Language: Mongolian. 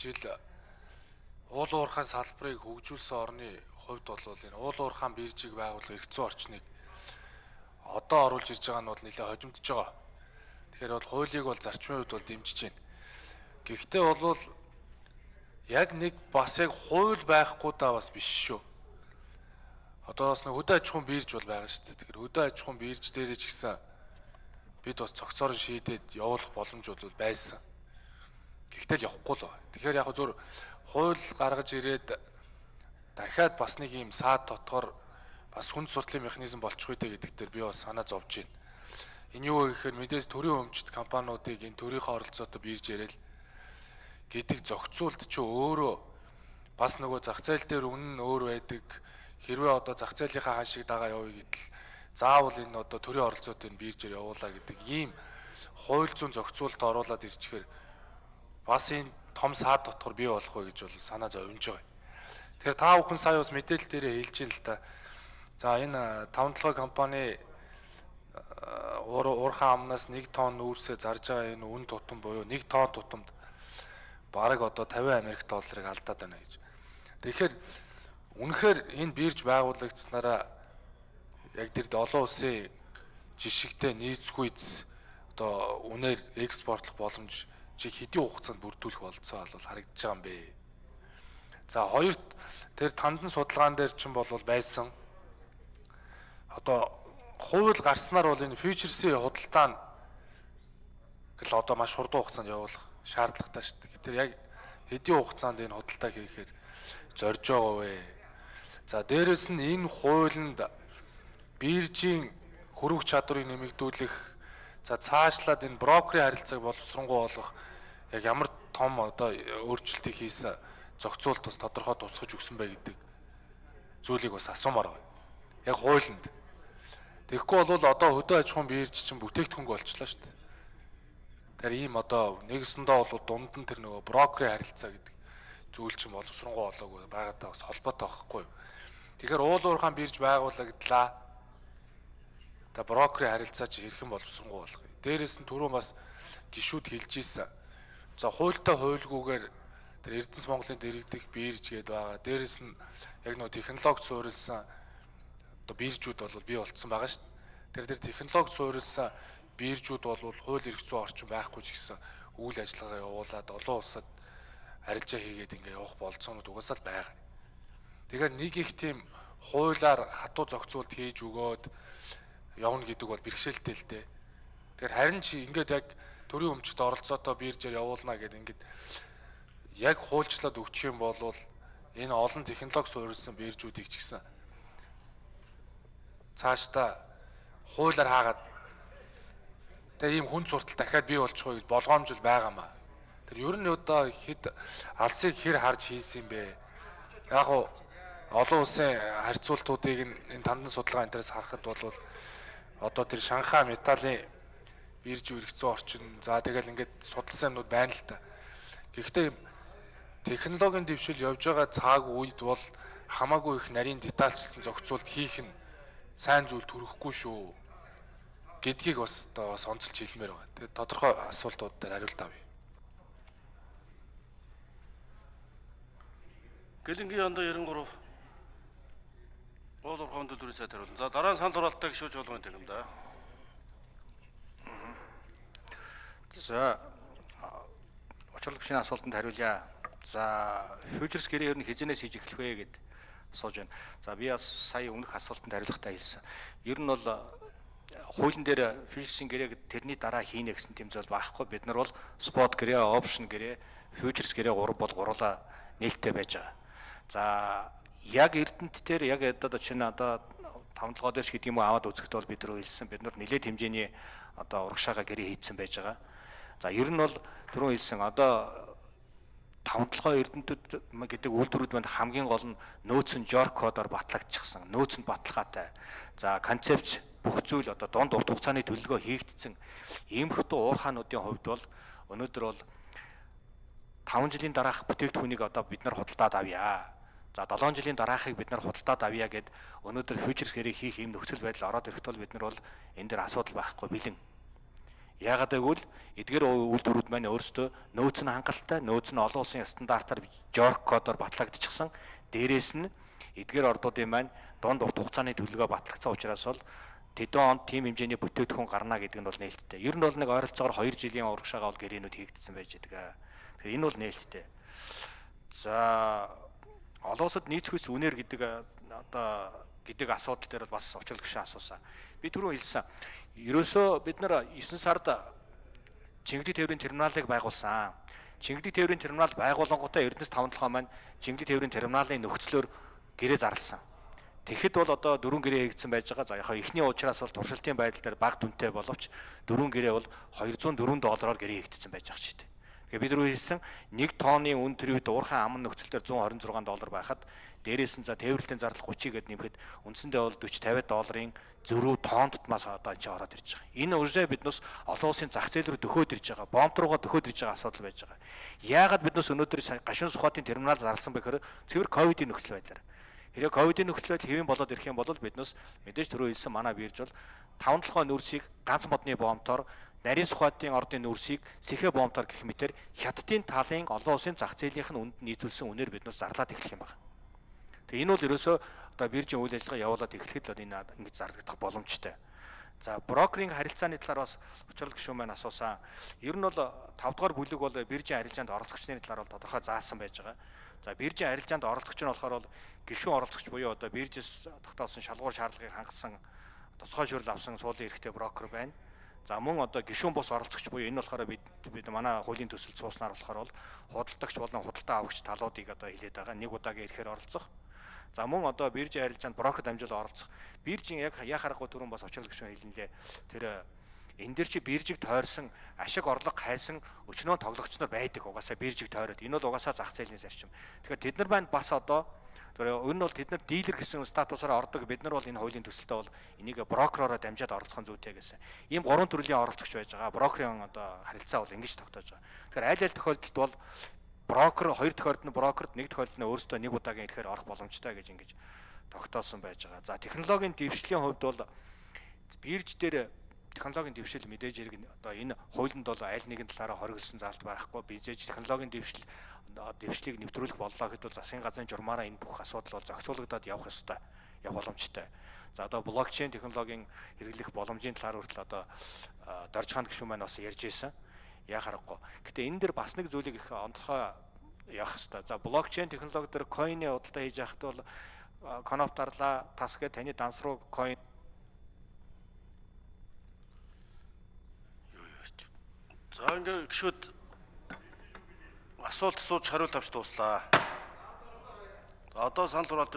жил уул уурхайн салбарыг хөгжүүлсэн орны хувьд бол энэ уул уурхайн биржийг байгуулах эрх зүйн орчныг одоо оруулж ирж байгаа нь бол нэлээд хожимдож байгаа. Тэгэхээр бол хуулийг бол зарчмын хувьд бол дэмжиж байна. Гэхдээ бол яг нэг бас яг хууль байхгүй даа бас биш шүү. Одоо бас нэг хөдөө аж ахуйн бирж бол байгаа шүү дээ. Тэгэхээр хөдөө аж ахуйн бирж дээрээ ч гэсэн бид бас цогцоор шийдээд явуулах боломж бол байсан. Гэхдээ л явахгүй л байна. Тэгэхээр яг зөв хууль гаргаж ирээд дахиад бас нэг юм саад дотор бас хүнд суртлын механизм болчих үедээ гэдэг дээр би бас санаа зовж байна. Энэ юу вэ гэхээр мэдээж төрийн өмчт компаниудыг энэ төрийнхөө оролцоотой бирж ярил гэдэг зохицуулт чи өөрөө бас нөгөө зах зээл дээр үнэн нь өөр байдаг. Хэрвээ одоо зах зээлийнхаа хаан шиг дагаа явъя гэдэл заавал энэ одоо төрийн оролцоотой биржээр явуулаа гэдэг ийм хууль зүйн зохицуулт оруулаад ирчихээр бас энэ том саад дотор бий болох вэ гэж бол санаа зовж байгаа. Тэгэхээр та бүхэн сая бас мэдээлэл дээрээ хэлж ин л та. За энэ 5-7 компани уурхайн амнаас 1 тонн нүүрсээ зарж байгаа энэ үн тутам буюу 1 тонн тутамд бараг одоо 50 Америк долларыг алдаад байна гэж. Тэгэхээр үнэхээр энэ бирж байгуулагдсанараа яг тэр олон улсын жишгтэй нийцгүйц одоо үнээр экспортлох боломж чи хэдийн хугацаанд бүрдүүлэх болцоо бол харагдаж байгаа юм бэ. За хоёрт тэр тандан судалгаан дээр чинь бол байсан одоо хууль гарснаар бол энэ фьючерсийн худалдаа нь гэл одоо маш хурдан хугацаанд явуулах шаардлагатай шүү дээ. Тэр яг хэдийн хугацаанд энэ худалдаа хийхээр зорж байгаа вэ? За дээрэс нь энэ хуулинд биржийн хөрвөх чадварыг нэмэгдүүлэх, за цаашлаад энэ брокерийн харилцааг боловсронгуй болгох яг ямар том одоо өөрчлөлтийг хийсэн зохицуулт бас тодорхой тусгаж өгсөн бай гэдэг зүйлийг бас асуумаар байна. Яг хуулинд. Тэгэхгүй бол одоо хөдөө аж ахуйн бирж чинь бүтээгдэхүүн болчихлоо шүү дээ. Тэр ийм одоо нэгсэндээ бол дунд нь тэр нөгөө брокерийн харилцаа гэдэг зүйл чинь боловсронгуй болоогүй байгаадаа бас холбоотой байхгүй юу. Тэгэхээр уул уурхайн бирж байгуулагдлаа. За брокерийн харилцаа чи хэрхэн боловсронгуй болгоё. Дээрээс нь түрүүн бас гишүүд хэлж ийсэн. За хуультай хуульгүйгээр тэр Эрдэнэс Монголын дэргэдэх бирж гээд байгаа. Дээрээс нь яг нөгөө технологи суурилсан одоо биржүүд бол бий болцсон байгаа шүү дээ. Тэр технологи суурилсан биржүүд бол хууль эрх зүйн орчин байхгүй ч гэсэн үйл ажиллагаа явуулаад олон улсад арилжаа хийгээд ингээ явах болцоонууд угаасаа л байгаа. Тэгэхээр нэг их тийм хуулиар хатуу зохицуулт хийж өгөөд явна гэдэг бол бэрхшээлтэй л дээ. Тэгэхээр харин чи ингээд яг төрийн өмчт оролцоотой биржээр явуулна гэдэг ингээд яг хуульчлаад өгчих юм бол энэ олон технологи суурилсан биржүүдийг ч гэсэн цаашдаа хуулиар хаагаад тэгээ ийм хүн суртал дахиад бий болчих вэ гэж болгоомжл байгаамаа. Тэр ер нь одоо хэд алсыг хэр харж хийсэн юм бэ? Яг уу олон улсын харьцуултуудыг энэ тандан судалгаа энэ төрөөс харахад бол одоо тэр Шанхай металлын бирж эрх зүйн орчин за тэгэл ингээд судалсан юмнууд байна л та. Гэхдээ технологийн дэвшил явж байгаа цаг үед бол хамаагүй их нарийн детальчилсан зохицуулт хийх нь сайн зүйл төрөхгүй шүү гэдгийг бас одоо бас онцолж хэлмээр байгаа. Тэгээд тодорхой асуултууд дээр хариулт авъя. Гэлэнгийн яндаа 93 уул уурхайн төлбөрийн сайд хариулна. За дараа нь санал хураалттай гишүүж болгоно гэх юм да. За учирлаг шинэ асуултанд хариулъя. За фьючерс гэрээ ер нь хизэнээс хийж эхлэх вэ гэд асууж байна. За би бас сая өмнөх асуултанд хариулахдаа хэлсэн. Ер нь бол хуулийн дээр фьючерсийн гэрээ тэрний дараа хийнэ гэсэн тийм зүйл байхгүй. Бид нар бол спот гэрээ, опшн гэрээ, фьючерс гэрээ 3 бол гурлаа нээлттэй байж байгаа. За яг Эрдэнэт дээр яг одоо чинь одоо 5-7 дэш гэдэг юм уу аваад үзэхэд бол бид нар хэлсэн. Бид нар нэлээд хэмжээний одоо урагшаага гэрээ хийцэн байж байгаа. За ер нь бол түрүүн хэлсэн одоо 5-7 Эрдэнэтэд гэдэг үйлдвэрүүд манд хамгийн гол нь нөөц нь жорк кодоор батлагдчихсан. Нөөц нь баталгаатай. За концепц бүх зүйл одоо дунд урт хугацааны төлөвлөгөө хийгдсэн. Иймэрхүү уурхаануудын хувьд бол өнөөдөр бол 5 жилийн дараах бүтээгдэхүүнийг одоо бид нар худалдаад авъя. За 7 жилийн дараахыг бид нар худалдаад авъя гэд өнөөдөр фьючерс гэрээ хийх юм нөхцөл байдал ороод ирэхэд бол бид нар бол энэ дээр асуудал байхгүй бэлэн. Яагаад гэвэл эдгээр үйлдвэрүүд маань өөрсдөө нөөц нь хангалттай, нөөц нь олон улсын стандартаар Жорк кодоор батлагдчихсан. Дээрээс нь эдгээр ордуудын маань дунд урт хугацааны төлөвлөгөө батлагдсан учраас бол тэдэн онд тийм хэмжээний бүтээгдэхүүн гарна гэдэг нь бол нээлттэй. Ер нь бол нэг ойролцоогоор 2 жилийн урагшаага бол гэрээнүүд хийгдсэн байж байгаа. Тэгэхээр энэ бол нээлттэй. За олон улсад нийцхүйц үнээр гэдэг гэдэг асуудал дээр бас очрол гүшин асуусан. Би түрүү хэлсэн. Ерөөсөө бид нар 9 сард Чингэлэг тээврийн терминалыг байгуулсан. Чингэлэг тээврийн терминал байгуулангуудаа Эрдэнэс 5-7 маань Чингэлэг тээврийн терминалын нөхцлөөр гэрээ зарласан. Тэгэхэд бол одоо 4 гэрээ хийгдсэн байж байгаа. За яхаа эхний уучраас бол туршилтын байдал дээр бага дүнтэй боловч 4 гэрээ бол $204 гэрээ хийгдсэн байж байгаа ч гэдэг. Тэгээ бид рүү хэлсэн 1 тонны үн тэрвэд уурхайн аман нөхцөл дээр $126 байхад дээрээс нь за тээвэрлэлийн зардал 30 гэд нэмэхэд үндсэндээ бол $40-50 зөрүү тонн тутмаас одоо энэ ороод ирж байгаа. Энэ үржээ биднээс олон улсын зах зээл рүү дөхөөд ирж байгаа. Бомб руугаа дөхөөд ирж байгаа асуудал байж байгаа. Яагаад биднээс өнөөдөр гашуун сухатын терминал зарласан бэ гэхээр цэвэр ковидын нөхцөл байдлаар. Хэрэг ковидын нөхцөл байдал хэвэн болоод ирэх юм бол биднээс мэдээж түрүү хэлсэн манай бирж бол 5-7 нүүрсийг ганц модны бомбтоор нарийн сухатын ордын нүүрсийг сэхэ бомбтоор гэх мэтэр хятадын талын олон улсын зах зээлийнх нь үнд нийцүүлсэн үнээр биднээс зарлаад эхлэх юм байна. Тэгээ энэ бол ерөөсөө одоо биржийн үйл ажиллагаа явуулаад эхлэхэд л энэ ингэж зарлагдах боломжтой. За брокерийн харилцааны талаар бас учрал гишүүн маань асуусан. Ер нь бол 5 дугаар бүлэг бол биржийн арилжаанд оролцогчны талаар бол тодорхой заасан байж байгаа. За биржийн арилжаанд оролцогч нь болохоор бол гишүүн оролцогч буюу одоо биржээс тогтоосон шалгуур шаардлагыг хангасан тусгай шүүрэл авсан суулын эрхтэй брокер байна. За мөн одоо гишүүн бус оролцогч буюу энэ болохоор бид манай хуулийн төсөлд сууснаар болохоор бол худалдагч болон худалдаа авагч талуудыг одоо хилээд байгаа. Нэг удаагийн ирэхээр оролцох. За мөн одоо биржийн арилжаанд брокер дамжуулан оролцох. Биржийн яг харахгүй түрүүн бас очрол гишүүн хэлнэлээ. Тэр энэ дэр чи биржиг тойрсон ашиг орлого хайсан өчнөө тоглогч нар байдаг. Угаасаа биржиг тойроод. Энэ бол угаасаа зах зээлийн зарчим. Тэгэхээр тэд нар маань бас одоо энэ бол тэд нар дилер гэсэн статусаар ордог. Бид нар бол энэ хуулийн төсөлтөд бол энийг брокеророо дамжаад оролцох зүйтэй гэсэн. Ийм 3 төрлийн оролцогч байж байгаа. Брокерийн одоо харилцаа бол ингэж тогтоож байгаа. Тэгэхээр аль аль тохиолдолд бол брокер 2 тохиолдолд нь брокерт 1 тохиолдолд нь өөрөөсөө нэг удаагийн ирэхээр орох боломжтой гэж ингэж тогтоосон байж байгаа. За технологийн дэвшлийн хувьд бол бирж дээр технологийн дэвшил мэдээж хэрэг одоо энэ хуулинд бол аль нэгэн талаараа хоригдсон заалт байхгүй. Бизэж технологийн дэвшлийг нэвтрүүлэх боллоо гэхэд бол засгийн газрын журмаараа энэ бүх асуудал бол зохицуулагдаад явах ёстой, явах боломжтой. За одоо блокчейн технологийн хэрэглэх боломжийн талаар хүртэл одоо доржханд гишүүн маань бас ярьж ирсэн. Яа харахгүй. Гэтэ энэ дэр бас нэг зүйлийг их онцгой явах хэрэгтэй. За блокчейн технологи дээр койны худалдаа хийж байхад бол коноптарлаа тас гэ таны данс руу койн За ингээ гişүүд асуулт асууж хариулт авч дууслаа. Одоо санал хураалт